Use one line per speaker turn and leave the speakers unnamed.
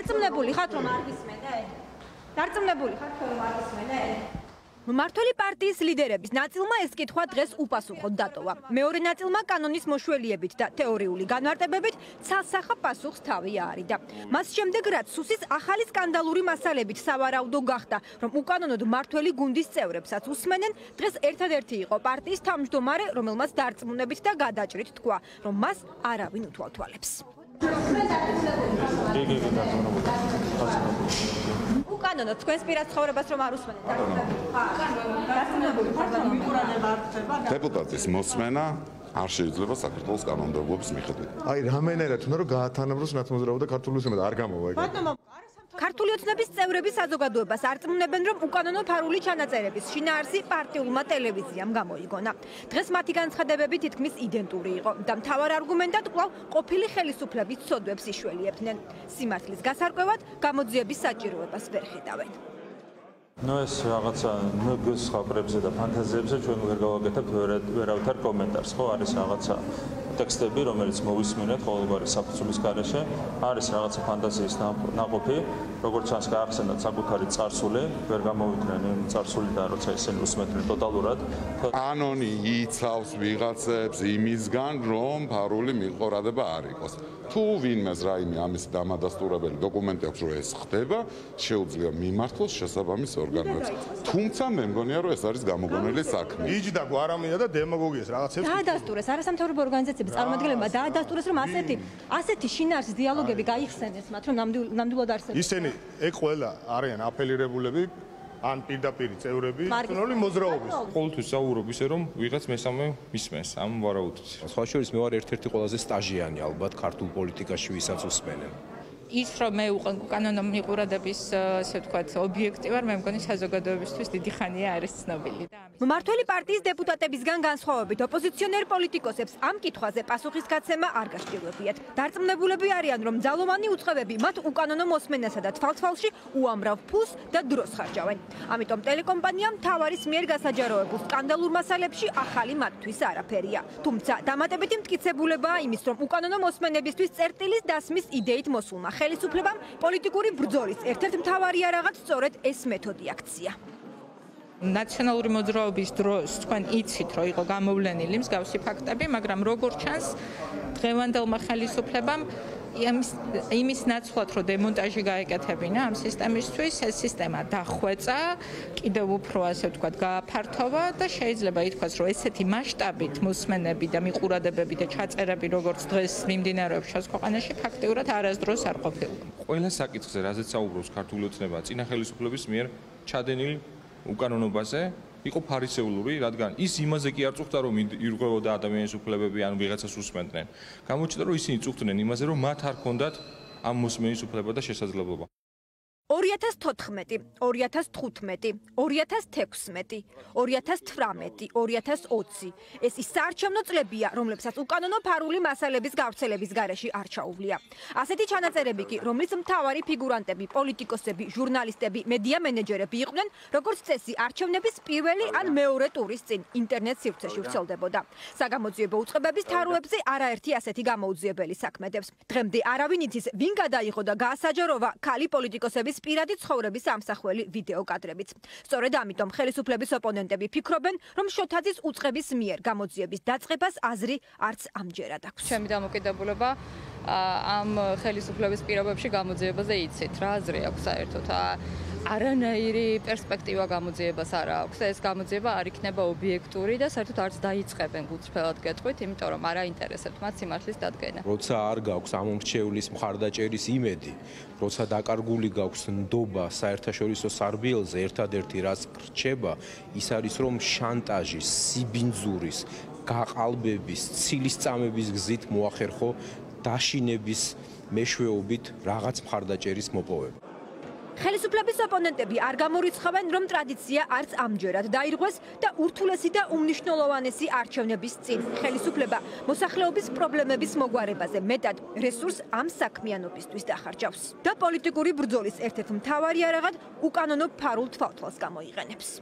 დარწმუნებული ხართ რომ არ გისმენე? დარწმუნებული ხართ რომ არ გისმენე? მმართველი პარტიის ლიდერების ნაწილმა ეს კითხვა დღეს უპასუხოდ დატოვა. მეორე ნაწილმა კანონის მოშველიებით და თეორიული განმარტებებით ცალსახა პასუხს თავი აარიდა. მას შემდეგ რაც სუსის ახალი სკანდალური მასალებით სავარაუდო გახდა, რომ უკანონოდ მმართველი გუნდის წევრებსაც უსმენენ, დღეს ერთადერთი იყო პარტიის თავმჯდომარე, რომელმაც დარწმუნებით და გადაჭრით თქვა, რომ მას არავინ უთვალთვალებს. უკანონოდ თქვენს პირად ცხოვრებას რომ არ უსმენთ.
დეპუტატის მოსმენა არ შეიძლება საქართველოს კანონმდებლობის მიხედვით.
აი რამენერად უნდა რომ გაათანაბროს ნაცმოძრაობა და ქართული ოცნება არ გამოვა ეგ.
ქართული ოცნების წევრები საზოგადოებას არწმუნებენ, რომ უკანონო ფარული ჩანაწერების შინაარსი პარტიულმა ტელევიზიამ გამოიგონა. დღეს მათი განცხადებები თითქმის იდენტური იყო და მთავარ არგუმენტად კვლავ ყოფილი ხელისუფლების ცოდვებს იშველიებდნენ. სიმართლის გასარკვევად გამოძიების საჭიროებას ვერ ხედავენ.
ეს რაღაცა ნგს ხაბრებზე და ფანტაზიებზე ჩვენ ვერ გავაკეთებთ ვერავითარ კომენტარს, ხო, არის რაღაცა ტექსტები, რომელიც მოვისმენთ ყოველგვარი საფუძვლის გარეშე, არის რაღაცა ფანტაზიის ნაყოფი, როგორც ჩანს გაახსენათ საკუთარი წარსული, ვერ გამოვიდნენ იმ წარსულიდან, როცა ისინი უსმენდნენ ტოტალურად.
კანონი იცავს ვიღაცებს იმისგან, რომ ფარული მიყორადება არ იყოს. თუ ვინმეს რაიმე ამის დამადასტურებელი დოკუმენტი აქვს, რომ ეს ხდება, შეუძლია მიმართოს შესაბამის ორგანოებს. თუმცა მე მგონია, რომ ეს არის გამოგონილი საქმე.
იჯდა გვარამია და დემაგოგიას რაღაცებს.
დაადასტურეს არასამთავრობო ორგანიზაციების წარმომადგენლებმა დაადასტურეს, რომ ასეთი შინაარსის დიალოგები გაიხსენეს მათ, რომ ნამდვილად არსებობს.
ისინი ეგ ყველა არიან აფილირებულები ან პირდაპირ წევრები თუნდაც მოძრაობის.
ყოველთვის საუბრობ ისე რომ ვიღაც მესამე მისმენს ამ ვარაუდით. სხვა შორის მე ვარ ერთ-ერთი ყველაზე სტაჟიანი ალბათ ქართულ პოლიტიკაში, ვისაც უსმენენ.
ის რომ მე უკანონო მიყურადების ასე ვთქვათ ობიექტი ვარ, მე მგონი საზოგადოებისთვის დიდი ხანია არის ცნობილი და ამის.
მმართველი პარტიის დეპუტატებისგან განსხვავებით ოპოზიციონერ პოლიტიკოსებს ამ კითხვაზე პასუხისგაცემა არ გასჭირვებიათ. დარწმუნებულები არიან, რომ ძალოვანი უწყებები მათ უკანონო მოსმენასა და თვალთვალში უამრავ ფულს და დროს ხარჯავენ. ამიტომ ტელეკომპანიამ მთავარის მიერ გასაჯაროებულ სკანდალურ მასალებში ახალი მათთვის არაფერია. თუმცა დამატებითი მტკიცებულებაა იმის, რომ უკანონო მოსმენებისთვის წერტილის დასმის იდეით მოსულმა ხელისუფლებამ პოლიტიკური ბრძოლის ერთ-ერთ მთავარი არაღად სწორედ ეს მეთოდი აქცია.
ნაციონალური მოძრაობის დროს თქვენ იცით, რომ იყო გამოვლენილი მსგავსი ფაქტები, მაგრამ როგორ ჩანს დღევანდელმა ხელისუფლებამ იმის ნაცვლად, რომ დემონტაჟი გაეკეთებინა ამ სისტემისთვის, ეს სისტემა დახვეწა, კიდევ უფრო ასე ვთქვათ, გააფართოვა და შეიძლება ითქვას, რომ ესეთი მასშტაბით მოსმენები და მიყურადებები და ჩაწერები, როგორც დღეს მიმდინარეობს ჩვენს ქვეყანაში, ფაქტიურად არასდროს არ ყოფილა.
ყველა საკითხზე, რაზეც საუბრობს ქართული ოცნება, წინა ხელისუფლების მიერ ჩადენილი უკანონობაზე იყო ფარისეულური, რადგან ის იმაზე კი არ წუხდა, რომ ირღვევოდა ადამიანის უფლებები ან ვიღაცას უსმენდნენ. გამოჩნდა, რომ ისინი წუხდნენ იმაზე, რომ მათ არ ჰქონდათ ამ მოსმენის უფლება და შესაძლებლობა.
2014, 2015, 2016, 2018, 2020 ეს ის საარჩევნო წლებია, რომლებსაც უკანონო ფარული მასალების გავრცელების გარეშე არ ჩაუვლია. ასეთი ჩანაწერები კი, რომლის მთავარი ფიგურანტები, პოლიტიკოსები, ჟურნალისტები, მედია მენეჯერები იყვნენ, როგორც წესი, არჩევნების პირველი ან მეორე ტურის წინ ინტერნეტ სივრცეში ვრცელდებოდა. საგამოძიებო უწყებების თაროებზე არაერთი ასეთი გამოუძიებელი საქმე დევს. დღემდე არავინ იცის, ვინ გადაიღო და გაასაჯაროვა ქალი პოლიტიკოსების პირადი ცხოვრების ამსახველი ვიდეო კადრებიც. სწორედ ამიტომ ხელისუფლების ოპონენტები ფიქრობენ, რომ შოთაძის უწყების მიერ გამოძიების დაწყებას აზრი არც ამჯერად აქვს.
ჩემი დამოკიდებულება ამ ხელისუფლების პირობებში გამოძიებაზე იცით რა აზრი აქვს საერთოდ არანაირი პერსპექტივა გამოძიებას არ აქვს და ეს გამოძიება არ იქნება ობიექტური და საერთოდ არც დაიწყებენ გულწრფელად გეტყვით, იმიტომ რომ არ აინტერესებთ მათ სიმართლის დადგენა.
როცა არ გაქვს ამომრჩევლის მხარდაჭერის იმედი, როცა დაკარგული გაქვს ნდობა საერთაშორისო სარბიელზე, ერთადერთი რაც რჩება, ის არის რომ შანტაჟის, სიბინძურის, გაყალბების, ცილისწამების გზით მოახერხო დაშინების მეშვეობით რაღაც მხარდაჭერის მოპოვება.
ხელისუფლების ოპონენტები არ გამორიცხავენ, რომ ტრადიცია არც ამჯერად დაირღვეს და ურთულესი და უმნიშვნელოვანესი არჩევნების წინ ხელისუფლება მოსახლეობის პრობლემების მოგვარებაზე მეტად რესურს ამ საქმიანობისთვის დახარჯავს და პოლიტიკური ბრძოლის ერთ-ერთ მთავარი არაღად უკანონო ფარულ თვალთვალს გამოიყენებს.